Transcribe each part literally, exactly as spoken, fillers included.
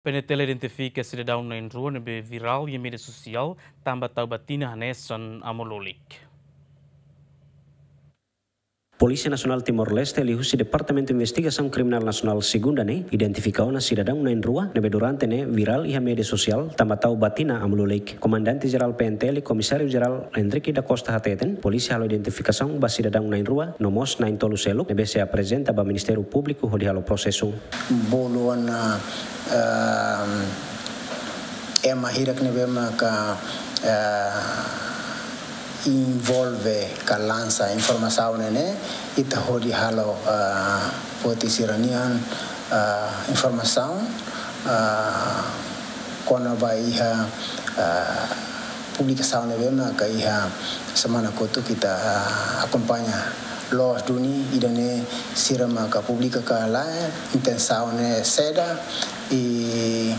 PNTL identifika sidadaun na'in-rua ne'ebé virál iha média sosiál tanba tau batina hanesan Amo Lulik. Polísia Nasionál Timor-Leste liuhusi Departamentu Investigasaun Kriminál Nasionál Segunda ne'e identifika ona sidadaun na'in-rua ne'ebé durante ne'e virál iha média sosiál tanba tau batina Amo Lulik. Komandante Jerál PNTL, Komisáriu Jerál Henrique da Costa hateten, polísia halo identifikasaun ba sidadaun na'in-rua no mós na'in-tolu seluk ne'ebé sei aprezenta ba Ministériu Públiku hodi halo prosesu. Bolu ona, ehm, ema hirak ne'ebé maka, eh, envolve ka lansa informasaun ne'e, ita hodi halo, eh, foti sira-nian, eh, informasaun, eh, kona-ba iha, eh, publikasaun ne'ebé maka iha semana kotuk ita, eh, akompaña. Loos duni ida-ne'e sira maka publika ka lae, intensaun ne'e saida, i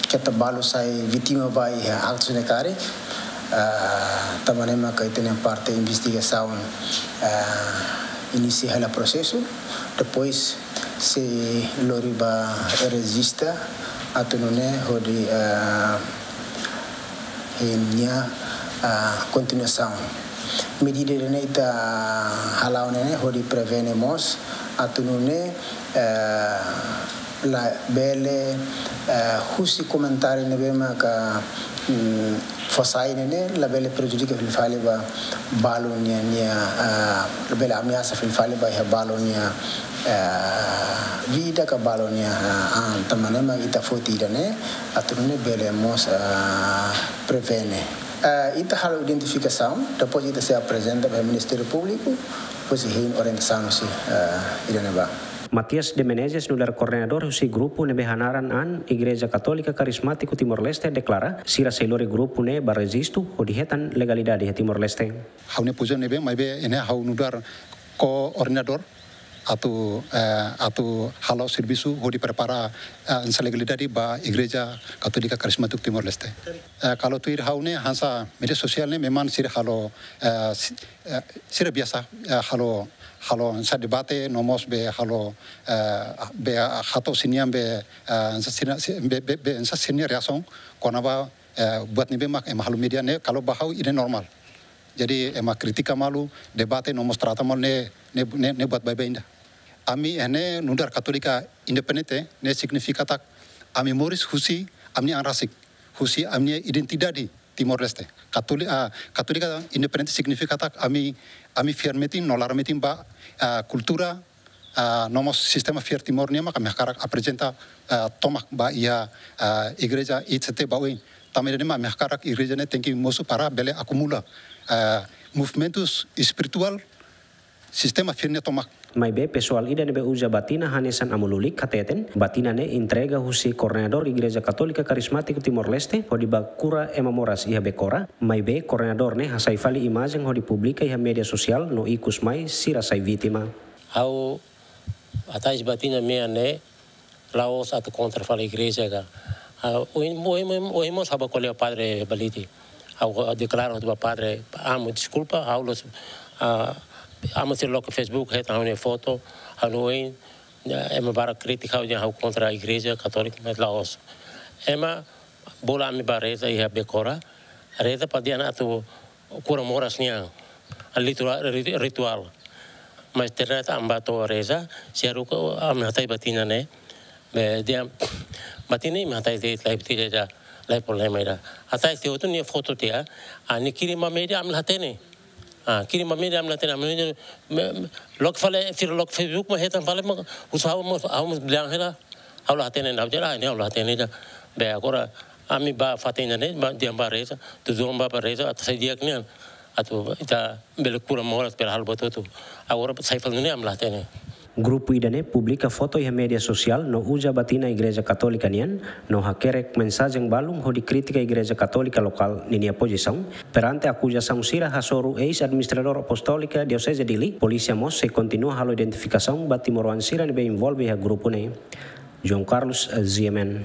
keta balu sai vítima ba iha aktu ne'e karik, eh, tanba ne'e maka ita-nia parte investigasaun, eh, inisia hela prosesu, depois sei lori ba rejista atu nune'e hodi, eh, hein nia, eh, kontinuasaun. Medida ne'e ita hala'o ne'e hodi prevene mós atu nune'e, eh, labele, eh, husi komentáriu ne'ebé maka, mm, fó sai ne'e labele prejudika fila fali ba balu nia, nia, eh, labele ameasa fila fali ba iha balu nia, eh, vida ka balu nia, eh, an, tanba ne'e mak ita foti ida-ne'e atu nune'e bele mós, eh, prevene. Eh, ita halo identifikasaun, depois ita sei aprezenta ba Ministériu Públiku, depois hein orientasaun husi, eh, ida-ne'ebá. Matias de Menezes nu'udar koordenadór husi grupu ne'ebé hanaran an Igreja Katólika Karismátiku Timor-Leste deklara, sira sei lori grupu ne'e ba rejistu hodi hetan legalidade iha Timor-Leste. Ha'u-nia pozisaun ne'ebé, maibé ne'e ha'u nu'udar koordenadór atu, eh, atu halo servisu hodi prepara, eh, hanesan legalidade ba Igreja Katólika Karismátiku Timor-Leste. Eh, kalau tuir ha'u ne'e hanesan média sosiál ne'e memang sira halo, eh, si-, eh, sira biasa, eh, halo, halo hanesan debate, no mós be halo, eh, be hato'o sira-nian be, eh, hanesan sira, si-, be, be, be hanesan sira-nia reasaun kona-ba, eh, buat ne'ebé mak ema halo média ne'e, kalau ba ha'u ida-ne'e normál. Jadi ema kritika malu, debate no mós trata malu ne'e, ne'e, ne'e, ne'e buat baibain ida. Ami ne'e nu'udar Katólika independente, ne'e signifika katak ami moris husi ami-nia an rasik, husi ami-nia identidade Timor-Leste. Katoli-, ah, Katólika independente signifika katak ami, ami fiar metin no laran metin ba, ah, kultura, ah, no mós sistema fiar Timor nian mak ami hakarak aprezenta, ah, tomak ba iha, ah, igreja I C T ba oin. Tanba ida-ne'e mak ami hakarak igreja ne'e tenke mosu para bele akumula, ah, movimentus espirituál sistema fiar nian tomak. Maibé pesoál ida ne'ebé uza batina hanesan Amo Lulik hateten, batina ne'e entrega husi koordenadór Igreja Katólika Karismátiku Timor-Leste hodi ba kura ema moras iha Becora, maibé koordenadór ne'e hasai fali imajen hodi publika iha média sosiál no ikus mai sira sai vítima. Ha'u hatais batina mean ne'e la'ós atu kontra fali igreja ka. Ah, ohin, ohin, ohin, ohin mós ha'u bá ko'alia ho Padre Baliti. Ha'u deklara ba Padre, Amo, deskulpa, ha'u la'ós, ah, Amo sira loke Facebook, hetan ha'u-nia foto, ha'u-nia oin, ema barak kritika ha'u dehan ha'u kontra Igreja Katólika, mas la'ós. Ema bolu ami bá reza iha Becora, reza para dehan atu kura moras nian, rituál, ri-, rituál. Mas ternyata ami bá to'o reza, sira haruka ami hatais batina ne'e, be dehan batina ne'e ami hatais de'it, laiha batina ida, laiha problema ida. Hatais tiha hotu nia foto tiha, ah, nia kirim ba média ami la hatene. Ah, kirim ba média ami la hatene, ami la hatene, me, me, loke fali, sira loke Facebook mak hetan fali mak, husu ha'u mós, ha'u mós bilang hela, ha'u la hatene, ha'u dehan, ah, ne'e ha'u la hatene ida. Be agora, ami bá fatin ne'e, bá, dehan bá reza, tujuan bá, bá reza, atu sai di'ak nian, atu ita bele kura moras, bele halo buat hotu. Agora sai fali ne'e ami la hatene. Grupu ida-ne'e publika foto iha média sosiál no uza batina Igreja Katólika nian, no hakerek mensajen balun hodi kritika Igreja Katólika lokál ninia pozisaun. Perante akuzasaun sira hasoru eis-administradór apostólika Dioseze Dili, polísia mós sei kontinua halo identifikasaun ba timoroan sira ne'ebé envolve iha grupu ne'e. João Carlos, eh, G M N.